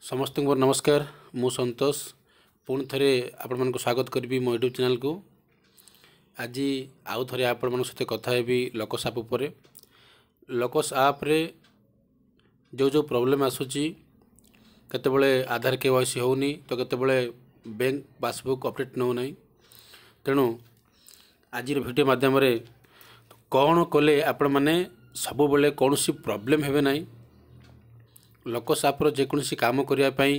ସମସ୍ତଙ୍କୁ ମୋର ନମସ୍କାର। ମୁଁ ସନ୍ତୋଷ, ପୁଣି ଥରେ ଆପଣମାନଙ୍କୁ ସ୍ୱାଗତ କରିବି ମୋ ୟୁଟ୍ୟୁବ୍ ଚ୍ୟାନେଲ୍କୁ। ଆଜି ଆଉ ଥରେ ଆପଣମାନଙ୍କ ସହିତ କଥା ହେବି ଲୋକସ୍ ଆପ୍ ଉପରେ। ଲୋକସ୍ ଆପ୍ରେ ଯେଉଁ ଯେଉଁ ପ୍ରୋବ୍ଲେମ୍ ଆସୁଛି, କେତେବେଳେ ଆଧାର KYC ହେଉନି ତ କେତେବେଳେ ବ୍ୟାଙ୍କ ପାସବୁକ୍ ଅପଡ଼େଟ୍ ନେଉନାହିଁ। ତେଣୁ ଆଜିର ଭିଡ଼ିଓ ମାଧ୍ୟମରେ କ'ଣ କଲେ ଆପଣମାନେ ସବୁବେଳେ କୌଣସି ପ୍ରୋବ୍ଲେମ୍ ହେବେ ନାହିଁ, ଲୋକସ୍ ଆପ୍ର ଯେକୌଣସି କାମ କରିବା ପାଇଁ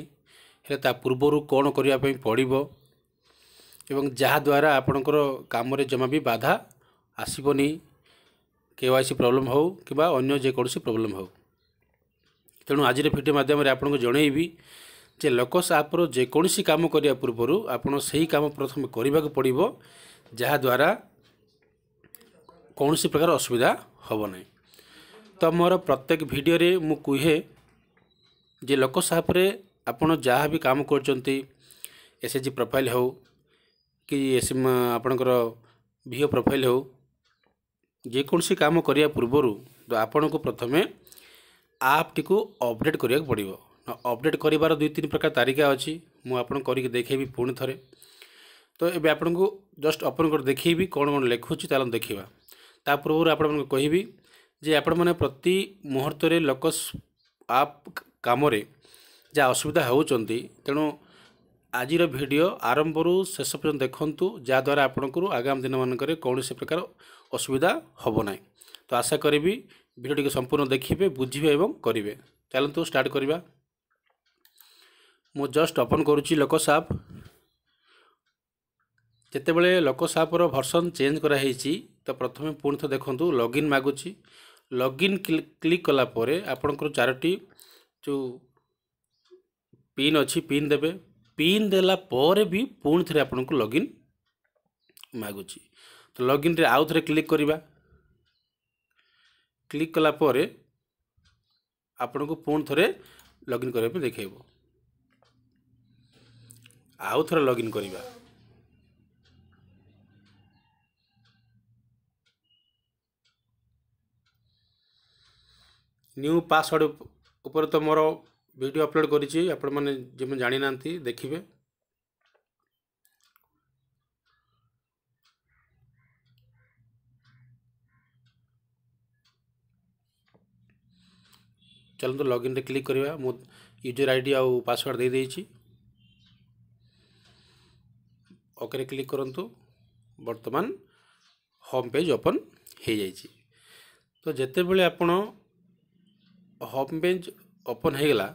ହେଲେ ତା ପୂର୍ବରୁ କ'ଣ କରିବା ପାଇଁ ପଡ଼ିବ ଏବଂ ଯାହାଦ୍ୱାରା ଆପଣଙ୍କର କାମରେ ଜମା ବି ବାଧା ଆସିବନି, KYC problem ହେଉ କିମ୍ବା ଅନ୍ୟ ଯେକୌଣସି ପ୍ରୋବ୍ଲେମ୍ ହେଉ। ତେଣୁ ଆଜିର ଭିଡ଼ିଓ ମାଧ୍ୟମରେ ଆପଣଙ୍କୁ ଜଣେଇବି ଯେ ଲୋକସ୍ ଆପ୍ର ଯେକୌଣସି କାମ କରିବା ପୂର୍ବରୁ ଆପଣ ସେହି କାମ ପ୍ରଥମେ କରିବାକୁ ପଡ଼ିବ, ଯାହାଦ୍ୱାରା କୌଣସି ପ୍ରକାର ଅସୁବିଧା ହେବ ନାହିଁ। ତ ମୋର ପ୍ରତ୍ୟେକ ଭିଡ଼ିଓରେ ମୁଁ କୁହେ ଯେ ଲୋକସ୍ ଆପ୍ରେ ଆପଣ ଯାହା ବି କାମ କରୁଛନ୍ତି, SHG profile ହେଉ କି ଆପଣଙ୍କର VO profile ହେଉ, ଯେକୌଣସି କାମ କରିବା ପୂର୍ବରୁ ତ ଆପଣଙ୍କୁ ପ୍ରଥମେ ଆପ୍ଟିକୁ ଅପଡ଼େଟ୍ କରିବାକୁ ପଡ଼ିବ। ଅପଡ଼େଟ୍ କରିବାର 2-3 ପ୍ରକାର ତାରିକା ଅଛି, ମୁଁ ଆପଣଙ୍କୁ କରିକି ଦେଖେଇବି ପୁଣି ଥରେ। ତ ଏବେ ଆପଣଙ୍କୁ ଜଷ୍ଟ ଓପନ୍ କରି ଦେଖେଇବି କ'ଣ କ'ଣ ଲେଖୁଛି, ଚାଲନ୍ତୁ ଦେଖିବା। ତା ପୂର୍ବରୁ ଆପଣମାନଙ୍କୁ କହିବି ଯେ ଆପଣମାନେ ପ୍ରତି ମୁହୂର୍ତ୍ତରେ ଲୋକସ୍ ଆପ୍ କାମରେ ଯାହା ଅସୁବିଧା ହେଉଛନ୍ତି, ତେଣୁ ଆଜିର ଭିଡ଼ିଓ ଆରମ୍ଭରୁ ଶେଷ ପର୍ଯ୍ୟନ୍ତ ଦେଖନ୍ତୁ, ଯାହାଦ୍ୱାରା ଆପଣଙ୍କର ଆଗାମୀ ଦିନମାନଙ୍କରେ କୌଣସି ପ୍ରକାର ଅସୁବିଧା ହେବ ନାହିଁ। ତ ଆଶା କରିବି ଭିଡ଼ିଓଟିକୁ ସମ୍ପୂର୍ଣ୍ଣ ଦେଖିବେ, ବୁଝିବେ ଏବଂ କରିବେ। ଚାଲନ୍ତୁ ଷ୍ଟାର୍ଟ କରିବା। ମୁଁ ଜଷ୍ଟ ଓପନ୍ କରୁଛି ଲୋକସ୍ ଆପ୍। ଯେତେବେଳେ ଲୋକସ୍ ଆପ୍ର ଭର୍ସନ୍ ଚେଞ୍ଜ କରାହେଇଛି, ତ ପ୍ରଥମେ ପୁଣି ଥରେ ଦେଖନ୍ତୁ ଲଗ୍ଇନ୍ ମାଗୁଛି। ଲଗ୍ଇନ୍ କ୍ଲିକ୍ କଲା ପରେ ଆପଣଙ୍କର 4ଟି ଯେଉଁ ପିନ୍ ଅଛି, ପିନ୍ ଦେବେ। ପିନ୍ ଦେଲା ପରେ ବି ପୁଣି ଥରେ ଆପଣଙ୍କୁ ଲଗ୍ଇନ୍ ମାଗୁଛି। ତ ଲଗ୍ଇନ୍ରେ ଆଉ ଥରେ କ୍ଲିକ୍ କରିବା। କ୍ଲିକ୍ କଲା ପରେ ଆପଣଙ୍କୁ ପୁଣି ଥରେ ଲଗ୍ଇନ୍ କରିବା ପାଇଁ ଦେଖାଇବ। ଆଉ ଥରେ ଲଗ୍ଇନ୍ କରିବା। ନ୍ୟୁ ପାସୱାର୍ଡ଼ ଉପରେ ତ ମୋର ଭିଡ଼ିଓ ଅପଲୋଡ଼ କରିଛି, ଆପଣମାନେ ଯେଉଁମାନେ ଜାଣିନାହାନ୍ତି ଦେଖିବେ। ଚାଲନ୍ତୁ ଲଗ୍ଇନ୍ରେ କ୍ଲିକ୍ କରିବା। ମୁଁ ୟୁଜର୍ ID ଆଉ ପାସୱାର୍ଡ଼ ଦେଇଦେଇଛି। ଓକେରେ କ୍ଲିକ୍ କରନ୍ତୁ। ବର୍ତ୍ତମାନ ହୋମ୍ ପେଜ୍ ଓପନ୍ ହେଇଯାଇଛି। ତ ଯେତେବେଳେ ଆପଣ ହୋମ୍ ପେଜ୍ ଓପନ୍ ହେଇଗଲା,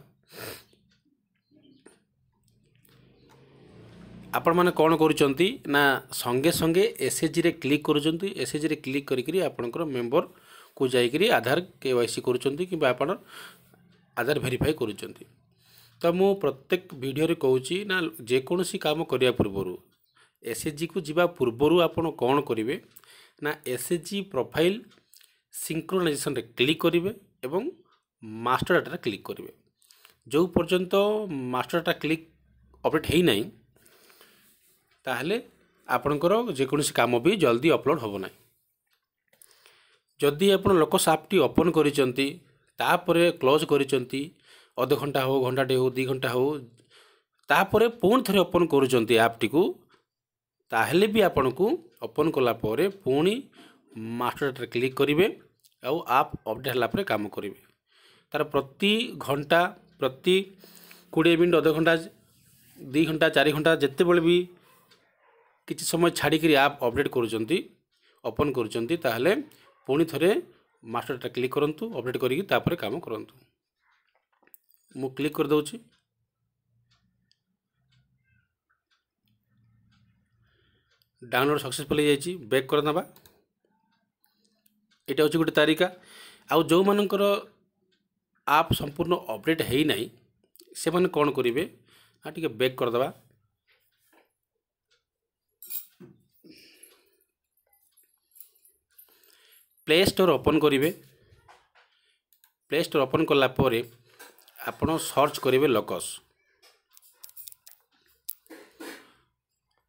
ଆପଣମାନେ କ'ଣ କରୁଛନ୍ତି ନା ସଙ୍ଗେ ସଙ୍ଗେ SHGରେ କ୍ଲିକ୍ କରୁଛନ୍ତି। SHGରେ କ୍ଲିକ୍ କରିକିରି ଆପଣଙ୍କର ମେମ୍ବରକୁ ଯାଇକରି ଆଧାର KYC କରୁଛନ୍ତି କିମ୍ବା ଆପଣ ଆଧାର ଭେରିଫାଏ କରୁଛନ୍ତି। ତ ମୁଁ ପ୍ରତ୍ୟେକ ଭିଡ଼ିଓରେ କହୁଛି ନା ଯେକୌଣସି କାମ କରିବା ପୂର୍ବରୁ, SHGକୁ ଯିବା ପୂର୍ବରୁ ଆପଣ କ'ଣ କରିବେ ନା SHG profile ସିଙ୍କ୍ରୋନାଇଜେସନ୍ରେ କ୍ଲିକ୍ କରିବେ ଏବଂ ମାଷ୍ଟର ଡାଟାରେ କ୍ଲିକ୍ କରିବେ। ଯେଉଁ ପର୍ଯ୍ୟନ୍ତ ମାଷ୍ଟର ଡାଟା କ୍ଲିକ୍ ଅପଡ଼େଟ୍ ହେଇନାହିଁ, ତାହେଲେ ଆପଣଙ୍କର ଯେକୌଣସି କାମ ବି ଜଲ୍ଦି ଅପଲୋଡ଼ ହେବ ନାହିଁ। ଯଦି ଆପଣ ଲୋକସ୍ ଆପ୍ଟି ଓପନ୍ କରିଛନ୍ତି, ତାପରେ କ୍ଲୋଜ୍ କରିଛନ୍ତି, ଅଧଘଣ୍ଟା ହେଉ, ଘଣ୍ଟାଟେ ହେଉ, 2 ଘଣ୍ଟା ହେଉ, ତାପରେ ପୁଣି ଥରେ ଓପନ୍ କରୁଛନ୍ତି ଆପ୍ଟିକୁ, ତାହେଲେ ବି ଆପଣଙ୍କୁ ଓପନ୍ କଲା ପରେ ପୁଣି ମାଷ୍ଟର ଡାଟାରେ କ୍ଲିକ୍ କରିବେ ଆଉ ଆପ୍ ଅପଡ଼େଟ୍ ହେଲା ପରେ କାମ କରିବେ। ତାର ପ୍ରତି ଘଣ୍ଟା, ପ୍ରତି 20 ମିନିଟ୍, ଅଧଘଣ୍ଟା, 2 ଘଣ୍ଟା, 4 ଘଣ୍ଟା, ଯେତେବେଳେ ବି କିଛି ସମୟ ଛାଡ଼ିକିରି ଆପ୍ ଅପଡ଼େଟ୍ କରୁଛନ୍ତି, ଓପନ୍ କରୁଛନ୍ତି, ତାହେଲେ ପୁଣି ଥରେ ମାଷ୍ଟର ଡାଟା କ୍ଲିକ୍ କରନ୍ତୁ, ଅପଡ଼େଟ୍ କରିକି ତାପରେ କାମ କରନ୍ତୁ। ମୁଁ କ୍ଲିକ୍ କରିଦେଉଛି। ଡାଉନଲୋଡ଼ ସକ୍ସେସଫୁଲ୍ ହେଇଯାଇଛି। ବ୍ୟାକ୍ କରିଦେବା। ଏଇଟା ହେଉଛି ଗୋଟେ ତାରିକା। ଆଉ ଯେଉଁମାନଙ୍କର ଆପ୍ ସମ୍ପୂର୍ଣ୍ଣ ଅପଡ଼େଟ୍ ହେଇନାହିଁ, ସେମାନେ କ'ଣ କରିବେ ନା ଟିକେ ବ୍ୟାକ୍ କରିଦେବା। ପ୍ଲେ ଷ୍ଟୋର୍ ଓପନ୍ କରିବେ। ପ୍ଲେ ଷ୍ଟୋର୍ ଓପନ୍ କଲା ପରେ ଆପଣ ସର୍ଚ୍ଚ କରିବେ ଲୋକସ୍।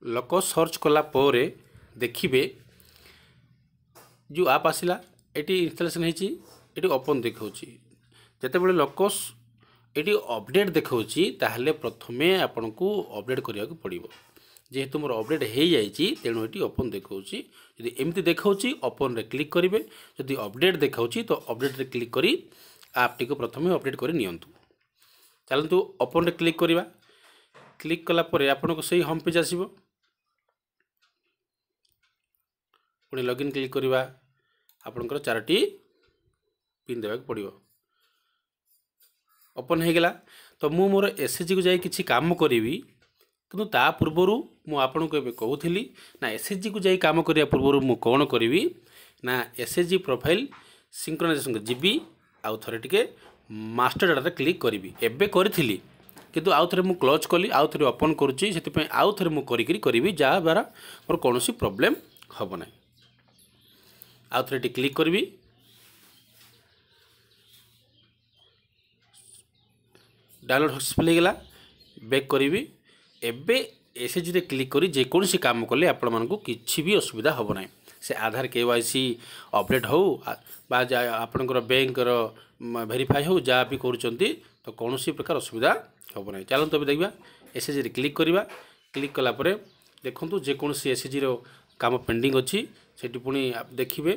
ଲୋକସ୍ ସର୍ଚ୍ଚ କଲା ପରେ ଦେଖିବେ ଯେଉଁ ଆପ୍ ଆସିଲା, ଏଠି ଇନଷ୍ଟଲେସନ୍ ହେଇଛି, ଏଠି ଓପନ୍ ଦେଖାଉଛି। ଯେତେବେଳେ ଲୋକସ୍ ଏଠି ଅପଡ଼େଟ୍ ଦେଖାଉଛି, ତାହେଲେ ପ୍ରଥମେ ଆପଣଙ୍କୁ ଅପଡ଼େଟ୍ କରିବାକୁ ପଡ଼ିବ। ଯେହେତୁ ମୋର ଅପଡ଼େଟ୍ ହେଇଯାଇଛି, ତେଣୁ ଏଠି ଓପନ୍ ଦେଖାଉଛି। ଯଦି ଏମିତି ଦେଖାଉଛି, ଓପନ୍ରେ କ୍ଲିକ୍ କରିବେ। ଯଦି ଅପଡ଼େଟ୍ ଦେଖାଉଛି, ତ ଅପଡ଼େଟ୍ରେ କ୍ଲିକ୍ କରି ଆପ୍ଟିକୁ ପ୍ରଥମେ ଅପଡ଼େଟ୍ କରି ନିଅନ୍ତୁ। ଚାଲନ୍ତୁ, ଓପନ୍ରେ କ୍ଲିକ୍ କରିବା। କ୍ଲିକ୍ କଲା ପରେ ଆପଣଙ୍କୁ ସେଇ ହୋମ୍ ପେଜ୍ ଆସିବ। ପୁଣି ଲଗ୍ଇନ୍ କ୍ଲିକ୍ କରିବା। ଆପଣଙ୍କର ଚାରୋଟି ପିନ୍ ଦେବାକୁ ପଡ଼ିବ। ଓପନ୍ ହେଇଗଲା। ତ ମୁଁ ମୋର ଏସ୍ଏଚ୍ଜିକୁ ଯାଇ କିଛି କାମ କରିବି, କିନ୍ତୁ ତା ପୂର୍ବରୁ ମୁଁ ଆପଣଙ୍କୁ ଏବେ କହୁଥିଲି ନା, ଏସ୍ଏଚ୍ଜିକୁ ଯାଇ କାମ କରିବା ପୂର୍ବରୁ ମୁଁ କ'ଣ କରିବି ନା, ଏସ୍ଏଚ୍ଜି ପ୍ରୋଫାଇଲ୍ ସିଙ୍କ୍ରୋନାଇଜେସନ୍କୁ ଯିବି, ଆଉ ଥରେ ଟିକେ ମାଷ୍ଟର ଡାଟାରେ କ୍ଲିକ୍ କରିବି। ଏବେ କରିଥିଲି, କିନ୍ତୁ ଆଉ ଥରେ ମୁଁ କ୍ଲୋଜ୍ କଲି, ଆଉ ଥରେ ଓପନ୍ କରୁଛି। ସେଥିପାଇଁ ଆଉ ଥରେ ମୁଁ କରିକିରି କରିବି, ଯାହାଦ୍ୱାରା ମୋର କୌଣସି ପ୍ରୋବ୍ଲେମ୍ ହେବ ନାହିଁ। ଆଉ ଥରେ ଏଠି କ୍ଲିକ୍ କରିବି। ଡାଉନଲୋଡ଼ ସକ୍ସେସଫୁଲ୍ ହେଇଗଲା। ବ୍ୟାକ୍ କରିବି। ଏବେ ଏସ୍ଏଚ୍ଜିରେ କ୍ଲିକ୍ କରି ଯେକୌଣସି କାମ କଲେ ଆପଣମାନଙ୍କୁ କିଛି ବି ଅସୁବିଧା ହେବ ନାହିଁ। ସେ ଆଧାର କେୱାଇସି ଅପଡ଼େଟ୍ ହେଉ ବା ଆପଣଙ୍କର ବ୍ୟାଙ୍କର ଭେରିଫାଏ ହେଉ, ଯାହା ବି କରୁଛନ୍ତି, ତ କୌଣସି ପ୍ରକାର ଅସୁବିଧା ହେବ ନାହିଁ। ଚାଲନ୍ତୁ, ଏବେ ଦେଖିବା। ଏସ୍ଏଚ୍ଜିରେ କ୍ଲିକ୍ କରିବା। କ୍ଲିକ୍ କଲା ପରେ ଦେଖନ୍ତୁ, ଯେକୌଣସି ଏସ୍ଏଚ୍ଜିର କାମ ପେଣ୍ଡିଂ ଅଛି, ସେଠି ପୁଣି ଦେଖିବେ।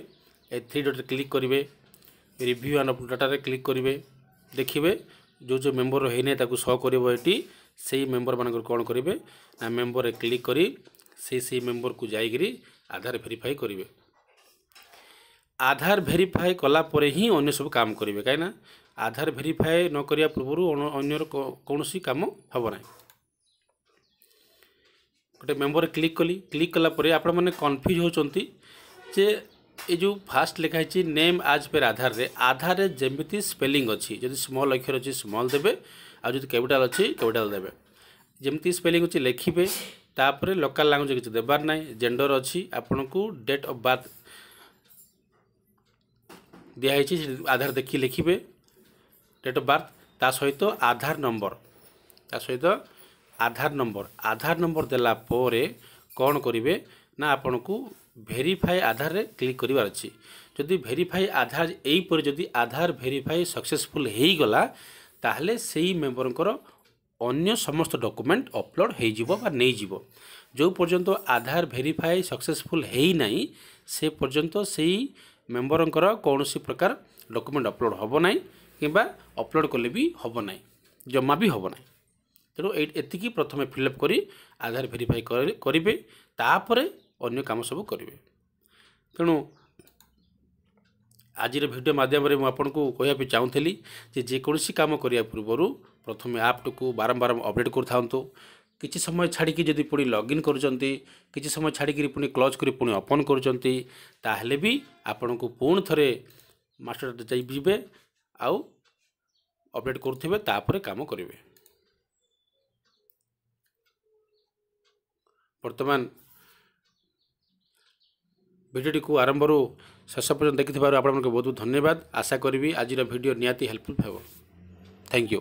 ଏ ଥ୍ରୀ ଡଟ୍ରେ କ୍ଲିକ୍ କରିବେ, ରିଭ୍ୟୁ ଆଣ୍ଡ ଡାଟାରେ କ୍ଲିକ୍ କରିବେ। ଦେଖିବେ, ଯେଉଁ ଯେଉଁ ମେମ୍ବର ହେଇନାହିଁ, ତାକୁ ଶୋ କରିବ ଏଠି। ସେଇ ମେମ୍ବରମାନଙ୍କର କ'ଣ କରିବେ ନା, ମେମ୍ବରରେ କ୍ଲିକ୍ କରି ସେଇ ମେମ୍ବରକୁ ଯାଇକରି ଆଧାର ଭେରିଫାଏ କରିବେ। ଆଧାର ଭେରିଫାଏ କଲା ପରେ ହିଁ ଅନ୍ୟ ସବୁ କାମ କରିବେ, କାହିଁକିନା ଆଧାର ଭେରିଫାଏ ନ କରିବା ପୂର୍ବରୁ ଅନ୍ୟର କୌଣସି କାମ ହେବ ନାହିଁ। ଗୋଟେ ମେମ୍ବରରେ କ୍ଲିକ୍ କଲି। କ୍ଲିକ୍ କଲା ପରେ ଆପଣମାନେ କନଫ୍ୟୁଜ୍ ହେଉଛନ୍ତି ଯେ ଏ ଯେଉଁ ଫାଷ୍ଟ ଲେଖା ହେଇଛି ନେମ୍ ଆଜ୍ ପେର୍ ଆଧାରରେ, ଆଧାରରେ ଯେମିତି ସ୍ପେଲିଂ ଅଛି, ଯଦି ସ୍ମଲ୍ ଅକ୍ଷର ଅଛି ସ୍ମଲ୍ ଦେବେ, ଆଉ ଯଦି କ୍ୟାପିଟାଲ୍ ଅଛି କ୍ୟାପିଟାଲ୍ ଦେବେ। ଯେମିତି ସ୍ପେଲିଂ ଅଛି ଲେଖିବେ। ତାପରେ ଲୋକାଲ୍ ଲାଙ୍ଗୁଏଜ୍ କିଛି ଦେବାର ନାହିଁ। ଜେଣ୍ଡର ଅଛି, ଆପଣଙ୍କୁ ଡେଟ୍ ଅଫ୍ ବାର୍ଥ ଦିଆହେଇଛି, ଆଧାର ଦେଖି ଲେଖିବେ ଡେଟ୍ ଅଫ୍ ବାର୍ଥ। ତା ସହିତ ଆଧାର ନମ୍ବର, ତା ସହିତ ଆଧାର ନମ୍ବର। ଆଧାର ନମ୍ବର ଦେଲା ପରେ କ'ଣ କରିବେ ନା, ଆପଣଙ୍କୁ ଭେରିଫାଏ ଆଧାରରେ କ୍ଲିକ୍ କରିବାର ଅଛି। ଯଦି ଭେରିଫାଏ ଆଧାର, ଏଇପରି ଯଦି ଆଧାର ଭେରିଫାଏ ସକ୍ସେସଫୁଲ୍ ହେଇଗଲା, ତାହେଲେ ସେଇ ମେମ୍ବରଙ୍କର ଅନ୍ୟ ସମସ୍ତ ଡକୁମେଣ୍ଟ ଅପଲୋଡ଼ ହେଇଯିବ ବା ନେଇଯିବ। ଯେଉଁ ପର୍ଯ୍ୟନ୍ତ ଆଧାର ଭେରିଫାଏ ସକ୍ସେସଫୁଲ୍ ହେଇନାହିଁ, ସେ ପର୍ଯ୍ୟନ୍ତ ସେଇ ମେମ୍ବରଙ୍କର କୌଣସି ପ୍ରକାର ଡକୁମେଣ୍ଟ ଅପଲୋଡ଼ ହେବ ନାହିଁ, କିମ୍ବା ଅପଲୋଡ଼ କଲେ ବି ହେବ ନାହିଁ, ଜମା ବି ହେବ ନାହିଁ। ତେଣୁ ଏଇ ଏତିକି ପ୍ରଥମେ ଫିଲ୍ଅପ୍ କରି ଆଧାର ଭେରିଫାଏ କରିବେ, ତାପରେ ଅନ୍ୟ କାମ ସବୁ କରିବେ। ତେଣୁ ଆଜିର ଭିଡ଼ିଓ ମାଧ୍ୟମରେ ମୁଁ ଆପଣଙ୍କୁ କହିବା ପାଇଁ ଚାହୁଁଥିଲି ଯେ ଯେକୌଣସି କାମ କରିବା ପୂର୍ବରୁ ପ୍ରଥମେ ଆପ୍ଟିକୁ ବାରମ୍ବାର ଅପଡ଼େଟ୍ କରୁଥାନ୍ତୁ। କିଛି ସମୟ ଛାଡ଼ିକି ଯଦି ପୁଣି ଲଗ୍ଇନ୍ କରୁଛନ୍ତି, କିଛି ସମୟ ଛାଡ଼ିକିରି ପୁଣି କ୍ଲୋଜ୍ କରି ପୁଣି ଓପନ୍ କରୁଛନ୍ତି, ତାହେଲେ ବି ଆପଣଙ୍କୁ ପୁଣି ଥରେ ମାଷ୍ଟର ଯାଇ ଯିବେ ଆଉ ଅପଡ଼େଟ୍ କରୁଥିବେ, ତାପରେ କାମ କରିବେ। ବର୍ତ୍ତମାନ ଭିଡ଼ିଓଟିକୁ ଆରମ୍ଭରୁ ଶେଷ ପର୍ଯ୍ୟନ୍ତ ଦେଖିଥିବାରୁ ଆପଣମାନଙ୍କୁ ବହୁତ ବହୁତ ଧନ୍ୟବାଦ। ଆଶା କରିବି ଆଜିର ଭିଡ଼ିଓ ନିହାତି ହେଲ୍ପଫୁଲ୍ ହେବ। Thank you.